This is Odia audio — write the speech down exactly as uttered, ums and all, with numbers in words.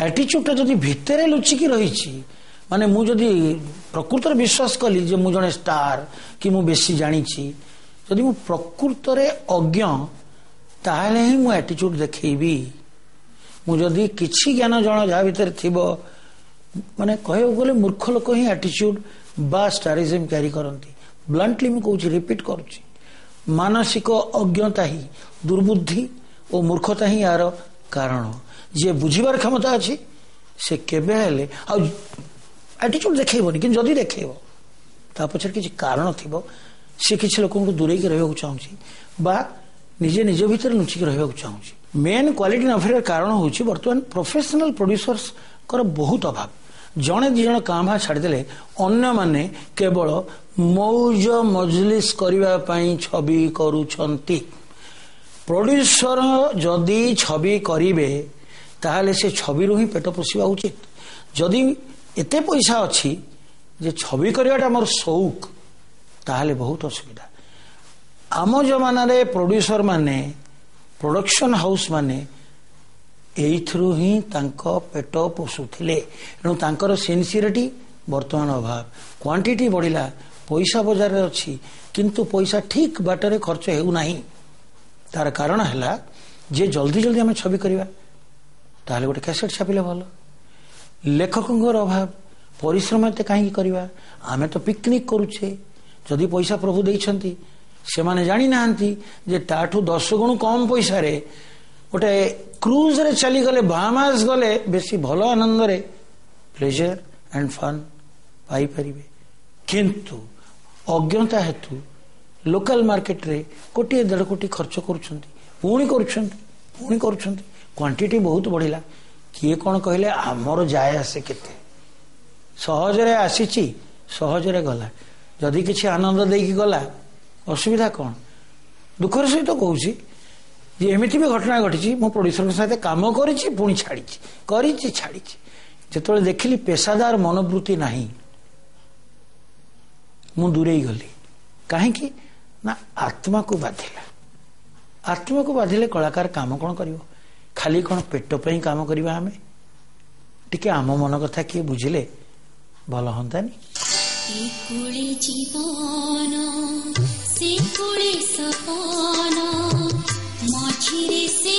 ଆଟିଚ୍ୟୁଡ଼ଟା ଯଦି ଭିତରେ ଲୁଚିକି ରହିଛି, ମାନେ ମୁଁ ଯଦି ପ୍ରକୃତରେ ବିଶ୍ୱାସ କଲି ଯେ ମୁଁ ଜଣେ ଷ୍ଟାର କି ମୁଁ ବେଶୀ ଜାଣିଛି, ଯଦି ମୁଁ ପ୍ରକୃତରେ ଅଜ୍ଞ ତାହେଲେ ହିଁ ମୁଁ ଆଟିଚ୍ୟୁଡ଼ ଦେଖେଇବି। ମୁଁ ଯଦି କିଛି ଜ୍ଞାନ ଜଣ ଯାହା ଭିତରେ ଥିବ, ମାନେ କହିବାକୁ ଗଲେ ମୂର୍ଖ ଲୋକ ହିଁ ଆଟିଚ୍ୟୁଡ଼ ବା ଷ୍ଟାରିଜିମ୍ କ୍ୟାରି କରନ୍ତି। ବ୍ଲଣ୍ଟଲି ମୁଁ କହୁଛି, ରିପିଟ୍ କରୁଛି, ମାନସିକ ଅଜ୍ଞତା ହିଁ, ଦୁର୍ବୁଦ୍ଧି ଓ ମୂର୍ଖତା ହିଁ ଏହାର କାରଣ। ଯିଏ ବୁଝିବାର କ୍ଷମତା ଅଛି ସେ କେବେ ହେଲେ ଆଉ ଆଟିଚ୍ୟୁଡ଼ ଦେଖେଇବନି, କିନ୍ତୁ ଯଦି ଦେଖେଇବ ତା ପଛରେ କିଛି କାରଣ ଥିବ। ସେ କିଛି ଲୋକଙ୍କୁ ଦୂରେଇକି ରହିବାକୁ ଚାହୁଁଛି ବା ନିଜେ ନିଜ ଭିତରେ ଲୁଚିକି ରହିବାକୁ ଚାହୁଁଛି। ମେନ୍ କ୍ୱାଲିଟି ନ ଫେରିବାର କାରଣ ହେଉଛି ବର୍ତ୍ତମାନ ପ୍ରଫେସନାଲ ପ୍ରଡ୍ୟୁସର୍ସଙ୍କର ବହୁତ ଅଭାବ। ଜଣେ ଦୁଇ ଜଣ କାଁ ଭାଁ ଛାଡ଼ିଦେଲେ ଅନ୍ୟମାନେ କେବଳ ମୌଜ ମଜଲିସ କରିବା ପାଇଁ ଛବି କରୁଛନ୍ତି। ପ୍ରଡ୍ୟୁସର ଯଦି ଛବି କରିବେ ତାହେଲେ ସେ ଛବିରୁ ହିଁ ପେଟ ପୋଷିବା ଉଚିତ। ଯଦି ଏତେ ପଇସା ଅଛି ଯେ ଛବି କରିବାଟା ଆମର ସଉକ, ତାହେଲେ ବହୁତ ଅସୁବିଧା। ଆମ ଜମାନାରେ ପ୍ରଡ୍ୟୁସର ମାନେ, ପ୍ରଡକ୍ସନ ହାଉସ୍ ମାନେ ଏଇଥିରୁ ହିଁ ତାଙ୍କ ପେଟ ପୋଷୁଥିଲେ। ତେଣୁ ତାଙ୍କର ସିନସିୟରିଟି ବର୍ତ୍ତମାନ ଅଭାବ। କ୍ୱାଣ୍ଟିଟି ବଢ଼ିଲା, ପଇସା ବଜାରରେ ଅଛି, କିନ୍ତୁ ପଇସା ଠିକ୍ ବାଟରେ ଖର୍ଚ୍ଚ ହେଉନାହିଁ। ତାର କାରଣ ହେଲା ଯେ ଜଲ୍ଦି ଜଲ୍ଦି ଆମେ ଛବି କରିବା, ତାହେଲେ ଗୋଟେ କ୍ୟାସେଟ୍ ଛାପିଲେ ଭଲ। ଲେଖକଙ୍କର ଅଭାବ, ପରିଶ୍ରମ ଏତେ କାହିଁକି କରିବା, ଆମେ ତ ପିକନିକ୍ କରୁଛେ। ଯଦି ପଇସା ପ୍ରଭୁ ଦେଇଛନ୍ତି, ସେମାନେ ଜାଣିନାହାନ୍ତି ଯେ ତାଠୁ ଦଶ ଗୁଣ କମ୍ ପଇସାରେ ଗୋଟେ କ୍ରୁଜରେ ଚାଲିଗଲେ, ବାହାମାସ ଗଲେ ବେଶୀ ଭଲ ଆନନ୍ଦରେ ପ୍ଲେଜର ଆଣ୍ଡ ଫନ୍ ପାଇପାରିବେ। କିନ୍ତୁ ଅଜ୍ଞତା ହେତୁ ଲୋକାଲ ମାର୍କେଟରେ କୋଟିଏ ଦେଢ଼ କୋଟି ଖର୍ଚ୍ଚ କରୁଛନ୍ତି, ପୁଣି କରୁଛନ୍ତି, ପୁଣି କରୁଛନ୍ତି। କ୍ୱାଣ୍ଟିଟି ବହୁତ ବଢ଼ିଲା। କିଏ କ'ଣ କହିଲେ ଆମର ଯାଏ ଆସେ କେତେ, ସହଜରେ ଆସିଛି ସହଜରେ ଗଲା। ଯଦି କିଛି ଆନନ୍ଦ ଦେଇକି ଗଲା ଅସୁବିଧା କ'ଣ? ଦୁଃଖର ସହିତ କହୁଛି ଯେ ଏମିତି ବି ଘଟଣା ଘଟିଛି, ମୁଁ ପ୍ରଡ୍ୟୁସରଙ୍କ ସହିତ କାମ କରିଛି, ପୁଣି ଛାଡ଼ିଛି, କରିଛି ଛାଡ଼ିଛି। ଯେତେବେଳେ ଦେଖିଲି ପେସାଦାର ମନୋବୃତ୍ତି ନାହିଁ, ମୁଁ ଦୂରେଇ ଗଲି। କାହିଁକି ନା ଆତ୍ମାକୁ ବାଧିଲା। ଆତ୍ମାକୁ ବାଧିଲେ କଳାକାର କାମ କ'ଣ କରିବ? ଖାଲି କ'ଣ ପେଟ ପାଇଁ କାମ କରିବା ଆମେ? ଟିକେ ଆମ ମନ କଥା କିଏ ବୁଝିଲେ ଭଲ ହୁଅନ୍ତାନି? ଏ ଜୀବନ ସେ କୁଳେ ସପନ, ମଝିରେ ସେ